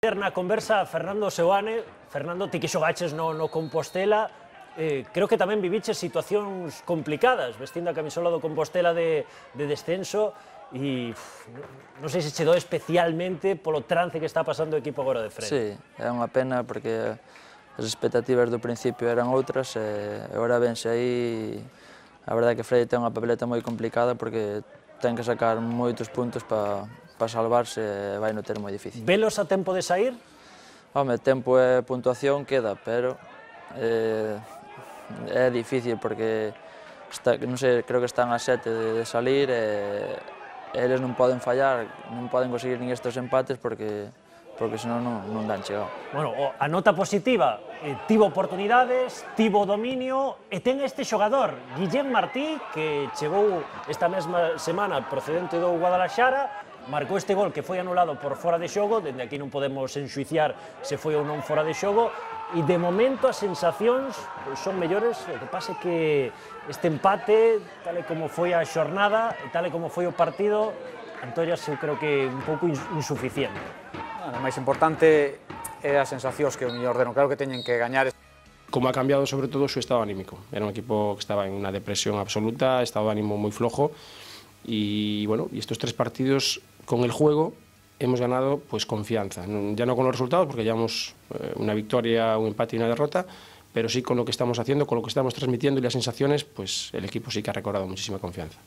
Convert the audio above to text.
Na conversa Fernando Seoane, Fernando, ti que xogaches no Compostela, creo que tamén viviches situacións complicadas, vestindo a camisola do Compostela de descenso, e non sei se che doe especialmente polo trance que está pasando o equipo agora de frente. Sí, é unha pena porque as expectativas do principio eran outras e agora vense aí. A verdade é que Freire ten unha papeleta moi complicada porque ten que sacar moitos puntos para salvarse e vai no ter moi difícil. Velos a tempo de sair? Home, tempo e puntuación queda, pero é difícil porque non sei, creo que están a 7 de salir e eles non poden fallar, non poden conseguir nin estes empates porque senón non dan chegado. Bueno, a nota positiva, tivo oportunidades, tivo dominio e ten este xogador, Guillén Martí, que chegou esta mesma semana procedente do Guadalaxara, marcou este gol que foi anulado por fora de xogo, dende aquí non podemos enxuiciar se foi ou non fora de xogo, e de momento as sensacións son mellores, o que pasa é que este empate, tal e como foi a xornada, tal e como foi o partido, Antoias eu creo que un pouco insuficiente. O máis importante é as sensacións que o mellor deron, claro que teñen que gañar. Como ha cambiado sobre todo su estado anímico. Era un equipo que estaba en una depresión absoluta, estado de ánimo muy flojo y bueno, y estos 3 partidos con el juego hemos ganado pues confianza, ya no con los resultados porque llevamos una victoria, un empate y una derrota, pero sí con lo que estamos haciendo, con lo que estamos transmitiendo y las sensaciones, pues el equipo sí que ha recobrado muchísima confianza.